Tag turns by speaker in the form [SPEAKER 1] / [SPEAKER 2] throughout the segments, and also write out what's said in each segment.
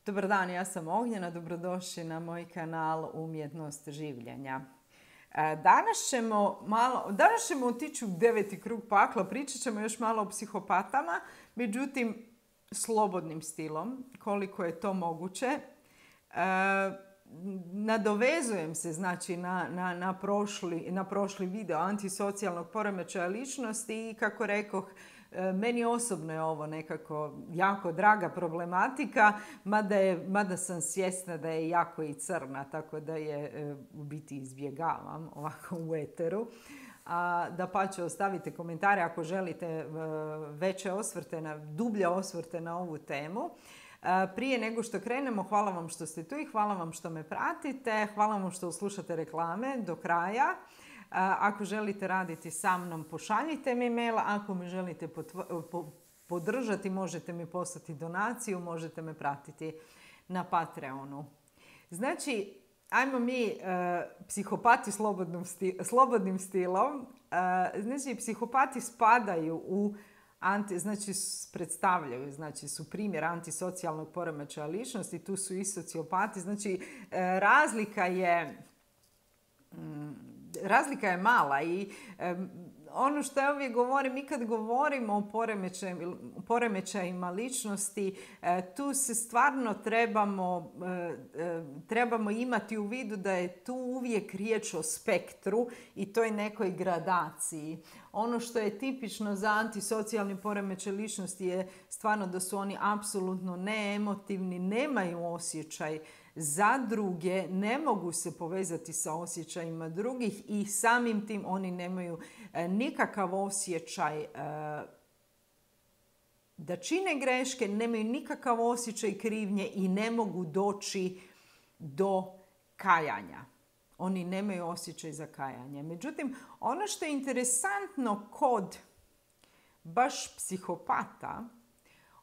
[SPEAKER 1] Dobar dan, ja sam Ognjena, dobrodošli na moj kanal Umjetnost življenja. Danas ćemo otići u 9. krug pakla, pričat ćemo još malo o psihopatama, međutim slobodnim stilom, koliko je to moguće. Nadovezujem se znači na prošli video antisocijalnog poremećaja ličnosti i kako rekoh, meni osobno je ovo nekako jako draga problematika, mada sam svjesna da je jako i crna, tako da je u biti izbjegavam ovako u eteru. Dapače, ostavite komentare ako želite veće osvrte, dublje osvrte na ovu temu. Prije nego što krenemo, hvala vam što ste tu i hvala vam što me pratite. Hvala vam što slušate reklame do kraja. Ako želite raditi sa mnom, pošaljite mi mail. Ako me želite podržati, možete mi poslati donaciju, možete me pratiti na Patreonu. Znači, ajmo mi psihopati slobodnim stilom. Znači, psihopati spadaju u predstavljaju, su primjer antisocijalnog poremećaja ličnosti, tu su i sociopati. Znači, razlika je mala i ono što ja uvijek govorim, mi kad govorimo o poremećajima ličnosti, tu se stvarno trebamo imati u vidu da je tu uvijek riječ o spektru i toj nekoj gradaciji. Ono što je tipično za antisocijalni poremećaj ličnosti je stvarno da su oni apsolutno neemotivni, nemaju osjećaj za druge, ne mogu se povezati sa osjećajima drugih i samim tim oni nemaju nikakav osjećaj da čine greške, nemaju nikakav osjećaj krivnje i ne mogu doći do kajanja. Oni nemaju osjećaj za kajanje. Međutim, ono što je interesantno kod baš psihopata,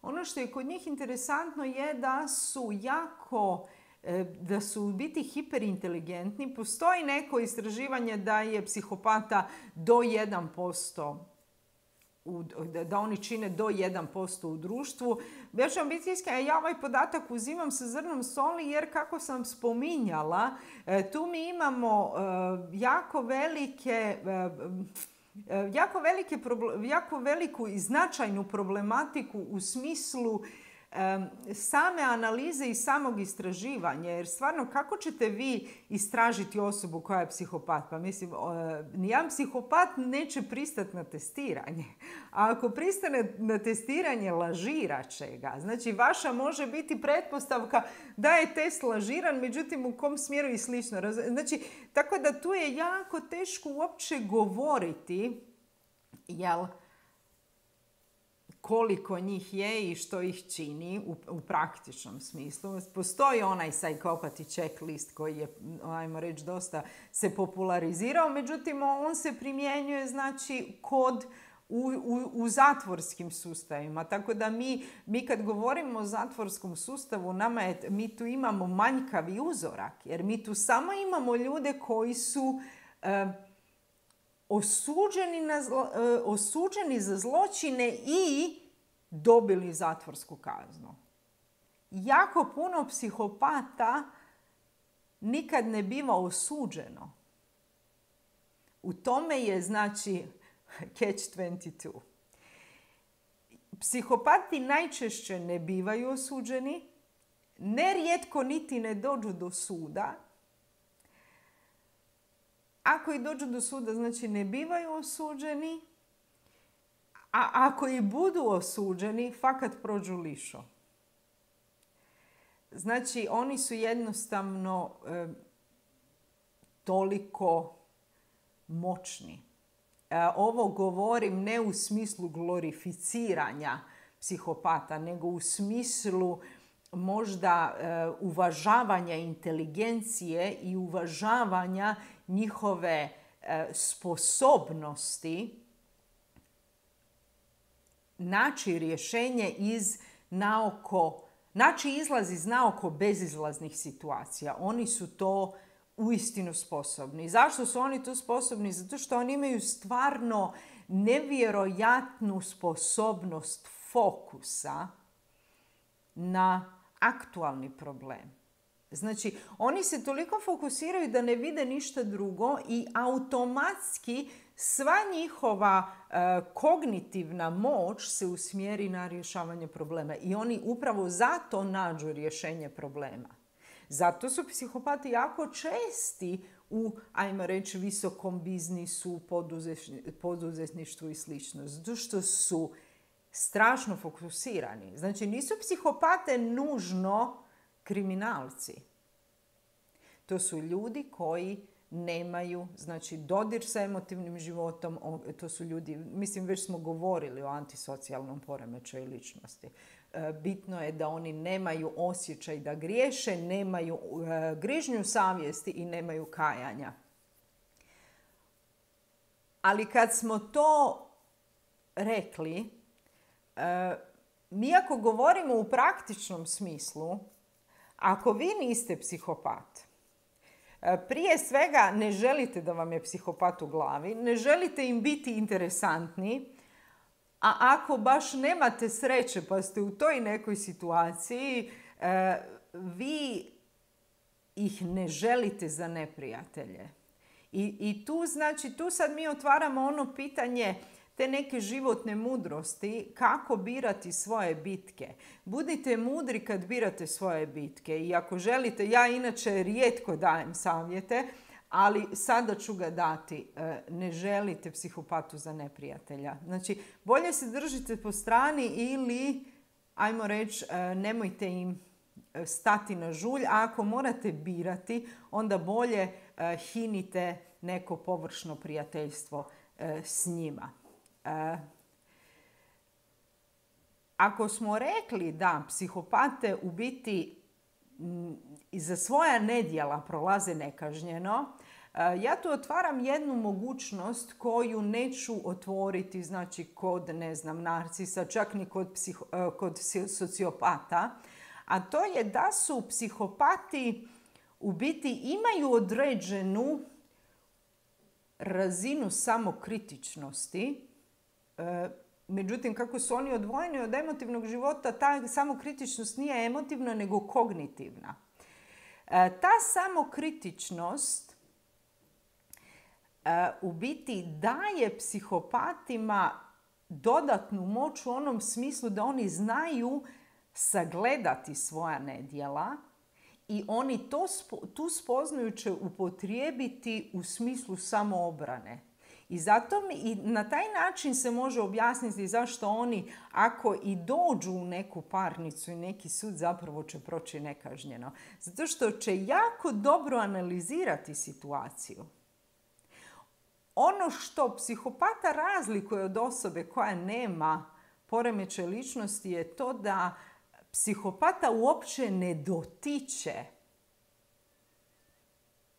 [SPEAKER 1] ono što je kod njih interesantno je da su u biti hiperinteligentni. Postoji neko istraživanje da je psihopata do 1%, da oni čine do 1% u društvu. Ja ću vam biti iskrena, ja ovaj podatak uzimam sa zrnom soli jer kako sam spominjala, tu mi imamo jako veliku i značajnu problematiku u smislu same analize i samog istraživanja. Jer stvarno, kako ćete vi istražiti osobu koja je psihopat? Pa mislim, nijedan psihopat neće pristati na testiranje. A ako pristane na testiranje, lažirat će ga. Znači, vaša može biti pretpostavka da je test lažiran, međutim u kom smjeru i slično. Znači, tako da tu je jako teško uopće govoriti, jel, koliko njih je i što ih čini u praktičnom smislu. Postoji onaj psychopathy checklist koji je, ajmo reći, dosta se popularizirao, međutim on se primjenjuje znači u zatvorskim sustavima. Tako da mi kad govorimo o zatvorskom sustavu, mi tu imamo manjkavi uzorak, jer mi tu samo imamo ljude koji su osuđeni za zločine i dobili zatvorsku kaznu. Jako puno psihopata nikad ne biva osuđeno. U tome je znači catch 22. Psihopati najčešće ne bivaju osuđeni, nerijetko niti ne dođu do suda. Ako i dođu do suda, znači ne bivaju osuđeni, a ako i budu osuđeni, fakat prođu lišo. Znači, oni su jednostavno toliko moćni. Ovo govorim ne u smislu glorificiranja psihopata, nego u smislu možda uvažavanja inteligencije i uvažavanja njihove sposobnosti naći rješenje naći izlaz iz naoko bezizlaznih situacija. Oni su to uistinu sposobni. Zašto su oni to sposobni? Zato što oni imaju stvarno nevjerojatnu sposobnost fokusa na aktualni problem. Znači, oni se toliko fokusiraju da ne vide ništa drugo i automatski sva njihova kognitivna moć se usmjeri na rješavanje problema. I oni upravo zato nađu rješenje problema. Zato su psihopati jako česti u, ajmo reći, visokom biznisu, poduzetništvu i slično. Zato što su strašno fokusirani. Znači, nisu psihopate nužno kriminalci. To su ljudi koji nemaju, znači, dodir sa emotivnim životom. To su ljudi, mislim, već smo govorili o antisocijalnom poremećaju ličnosti. Bitno je da oni nemaju osjećaj da griješe, nemaju grižnju savjesti i nemaju kajanja. Ali kad smo to rekli, mi ako govorimo u praktičnom smislu, ako vi niste psihopat, prije svega ne želite da vam je psihopat u glavi, ne želite im biti interesantni, a ako baš nemate sreće pa ste u toj nekoj situaciji, vi ih ne želite za neprijatelje. I tu, znači, tu sad mi otvaramo ono pitanje te neke životne mudrosti, kako birati svoje bitke. Budite mudri kad birate svoje bitke. I ako želite, ja inače rijetko dajem savjete, ali sada ću ga dati. Ne želite psihopatu za neprijatelja. Znači, bolje se držite po strani ili, ajmo reći, nemojte im stati na žulj. A ako morate birati, onda bolje hinite neko površno prijateljstvo s njima. Ako smo rekli da psihopate u biti za svoja nedjela prolaze nekažnjeno, ja tu otvaram jednu mogućnost koju neću otvoriti, znači, kod, ne znam, narcisa, čak ni kod sociopata, a to je da su psihopati u biti imaju određenu razinu samokritičnosti. Međutim, kako su oni odvojeni od emotivnog života, ta samokritičnost nije emotivna, nego kognitivna. Ta samokritičnost u biti daje psihopatima dodatnu moć u onom smislu da oni znaju sagledati svoja nedjela i oni tu spoznaju će upotrijebiti u smislu samoobrane. I zato i na taj način se može objasniti zašto oni, ako i dođu u neku parnicu i neki sud, zapravo će proći nekažnjeno. Zato što će jako dobro analizirati situaciju. Ono što psihopata razlikuje od osobe koja nema poremećaj ličnosti je to da psihopata uopće ne dotiče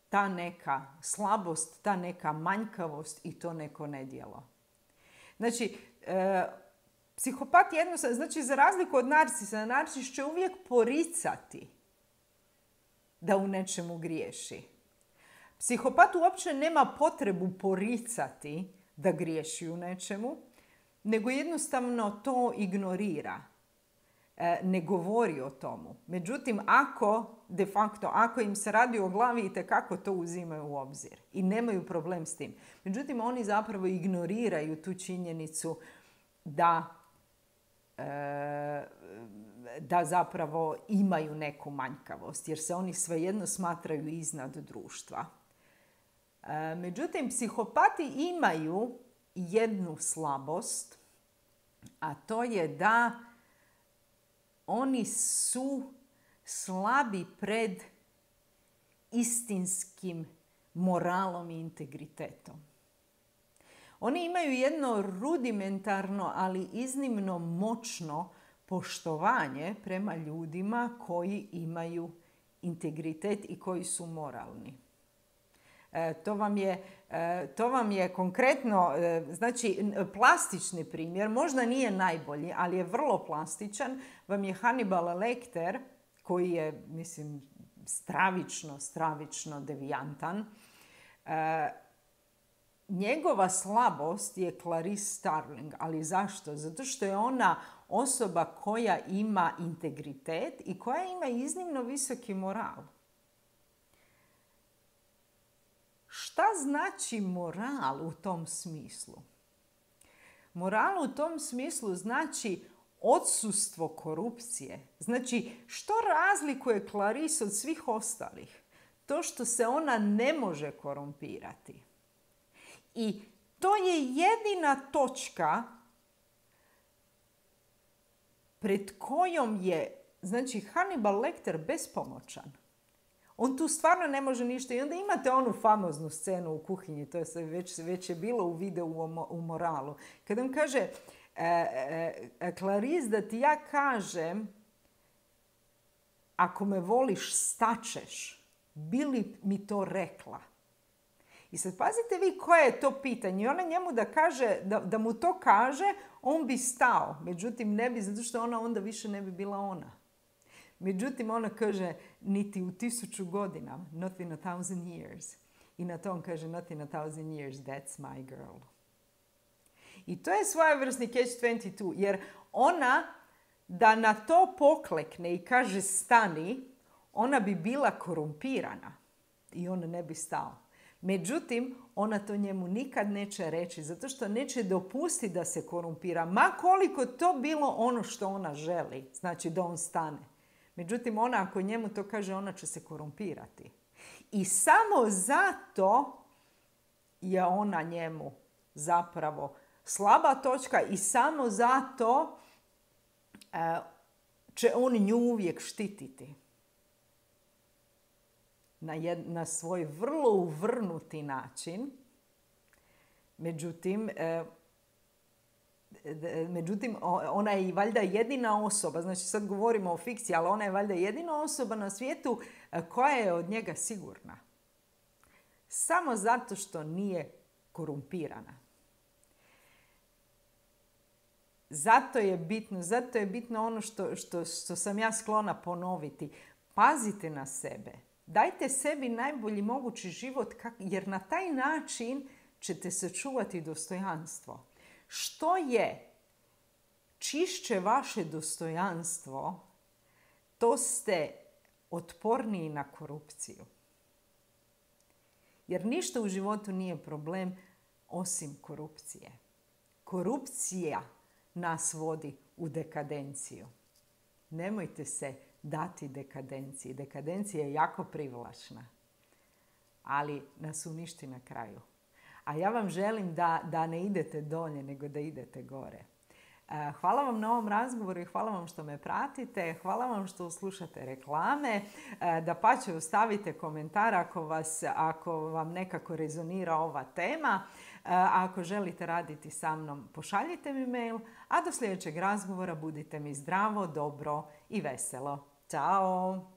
[SPEAKER 1] ta neka slabost, ta neka manjkavost i to neko nedjelo. Znači, psihopat jednostavno, znači, za razliku od narcisa, narcis će uvijek poricati da u nečemu griješi. Psihopat uopće nema potrebu poricati da griješi u nečemu, nego jednostavno to ignorira. Ne govori o tomu. Međutim, ako im se radi o glavi, itekako to uzimaju u obzir i nemaju problem s tim. Međutim, oni zapravo ignoriraju tu činjenicu da zapravo imaju neku manjkavost, jer se oni svejedno smatraju iznad društva. Međutim, psihopati imaju jednu slabost, a to je da oni su slabi pred istinskim moralom i integritetom. Oni imaju jedno rudimentarno, ali iznimno moćno poštovanje prema ljudima koji imaju integritet i koji su moralni. To vam je konkretno, znači, plastični primjer, možda nije najbolji, ali je vrlo plastičan, vam je Hannibal Lecter, koji je, mislim, stravično devijantan. Njegova slabost je Clarice Starling, ali zašto? Zato što je osoba koja ima integritet i koja ima iznimno visoki moral. Šta znači moral u tom smislu? Moral u tom smislu znači odsustvo korupcije. Znači, što razlikuje Clarice od svih ostalih? To što se ona ne može korumpirati. I to je jedina točka pred kojom je, znači, Hannibal Lecter bespomoćan. On tu stvarno ne može ništa. I onda imate onu famoznu scenu u kuhinji, to je već je bilo u videu u Moralu. Kad on kaže, Clarice, da ti ja kažem, ako me voliš, staćeš. Bi li mi to rekla? I sad pazite vi koje je to pitanje. I ona njemu da mu to kaže, on bi stao. Međutim, ne bi, zato što ona onda više ne bi bila ona. Međutim, ona kaže, niti u 1000 godina, not in 1000 years. I na to on kaže, not in 1000 years, that's my girl. I to je svojevrsni catch-22, jer ona, da na to poklekne i kaže stani, ona bi bila korumpirana i on ne bi stao. Međutim, ona to njemu nikad neće reći, zato što neće dopustiti da se korumpira, ma koliko to bilo ono što ona želi, znači da on stane. Međutim, ona ako njemu to kaže, ona će se korumpirati. I samo zato je ona njemu zapravo slaba točka i samo zato će on nju uvijek štititi. Na svoj vrlo uvrnuti način. Međutim, ona je i valjda jedina osoba, znači sad govorimo o fikciji, ali ona je valjda jedina osoba na svijetu koja je od njega sigurna. Samo zato što nije korumpirana. Zato je bitno ono što sam ja sklona ponoviti. Pazite na sebe. Dajte sebi najbolji mogući život, jer na taj način ćete sačuvati dostojanstvo. Što je čišće vaše dostojanstvo, to ste otporniji na korupciju. Jer ništa u životu nije problem osim korupcije. Korupcija nas vodi u dekadenciju. Nemojte se dati dekadenciji. Dekadencija je jako privlačna, ali nas uništi na kraju. A ja vam želim da ne idete dolje, nego da idete gore. Hvala vam na ovom razgovoru i hvala vam što me pratite. Hvala vam što slušate reklame. Dapače, ostavite komentar ako vam nekako rezonira ova tema. Ako želite raditi sa mnom, pošaljite mi mail. A do sljedećeg razgovora budite mi zdravo, dobro i veselo. Ćao!